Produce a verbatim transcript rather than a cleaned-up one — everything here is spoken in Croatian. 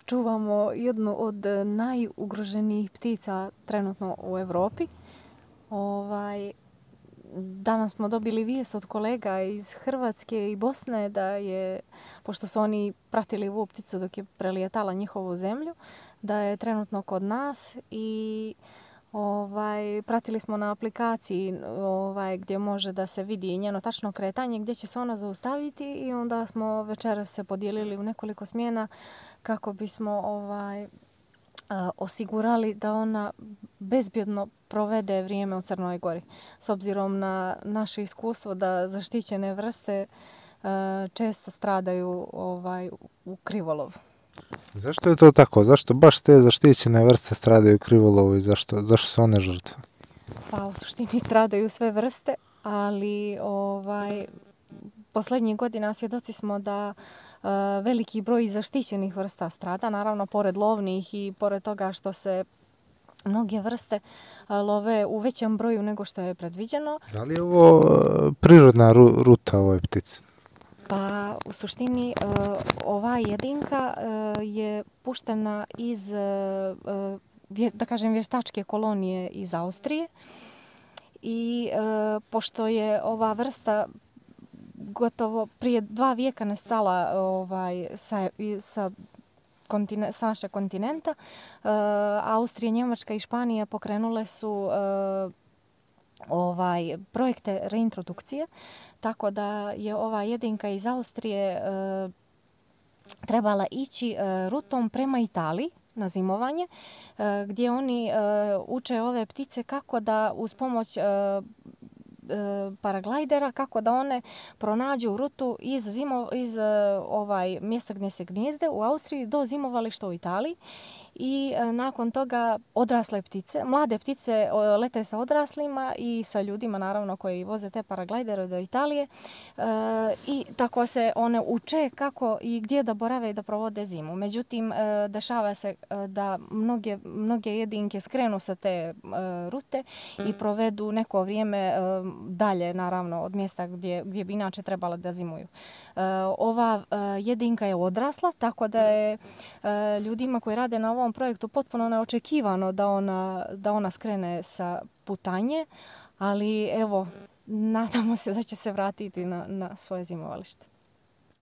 Čuvamo jednu od najugroženijih ptica trenutno u Europi. Ovaj, danas smo dobili vijest od kolega iz Hrvatske i Bosne da je, pošto su oni pratili ovu pticu dok je prelijetala njihovu zemlju, da je trenutno kod nas i ovaj, pratili smo na aplikaciji ovaj, gdje može da se vidi njeno tačno kretanje, gdje će se ona zaustaviti i onda smo večeras se podijelili u nekoliko smjena kako bismo ovaj, osigurali da ona bezbjedno provede vrijeme u Crnoj Gori. S obzirom na naše iskustvo da zaštićene vrste često stradaju ovaj, u krivolovu. Zašto je to tako? Zašto baš te zaštićene vrste stradaju u krivolovu i zašto, zašto su one žrtve? Pa u suštini stradaju sve vrste, ali ovaj, posljednjih godina svjedoci smo da uh, veliki broj zaštićenih vrsta strada, naravno pored lovnih i pored toga što se mnoge vrste love u većem broju nego što je predviđeno. Da li je ovo prirodna ruta ovoj ptici? Pa u suštini ova jedinka je puštena iz, da kažem, vještačke kolonije iz Austrije i pošto je ova vrsta gotovo prije dva vijeka nestala ovaj, sa, sa Kontine, sa našeg kontinenta. Uh, Austrija, Njemačka i Španija pokrenule su uh, ovaj, projekte reintrodukcije, tako da je ova jedinka iz Austrije uh, trebala ići uh, rutom prema Italiji na zimovanje, uh, gdje oni uh, uče ove ptice kako da uz pomoć uh, paraglajdera, kako da one pronađu rutu iz, zimo, iz ovaj, mjesta gdje se gnijezde u Austriji do zimovališta u Italiji. I nakon toga odrasle ptice, mlade ptice lete sa odraslima i sa ljudima naravno koji voze te paraglajdere do Italije e, i tako se one uče kako i gdje da borave i da provode zimu. Međutim, e, dešava se da mnoge, mnoge jedinke skrenu sa te e, rute i provedu neko vrijeme e, dalje naravno od mjesta gdje, gdje bi inače trebala da zimuju. E, ova e, jedinka je odrasla, tako da je e, ljudima koji rade na ovom projektu potpuno neočekivano da ona, da ona skrene sa putanje, ali evo, nadamo se da će se vratiti na, na svoje zimovalište.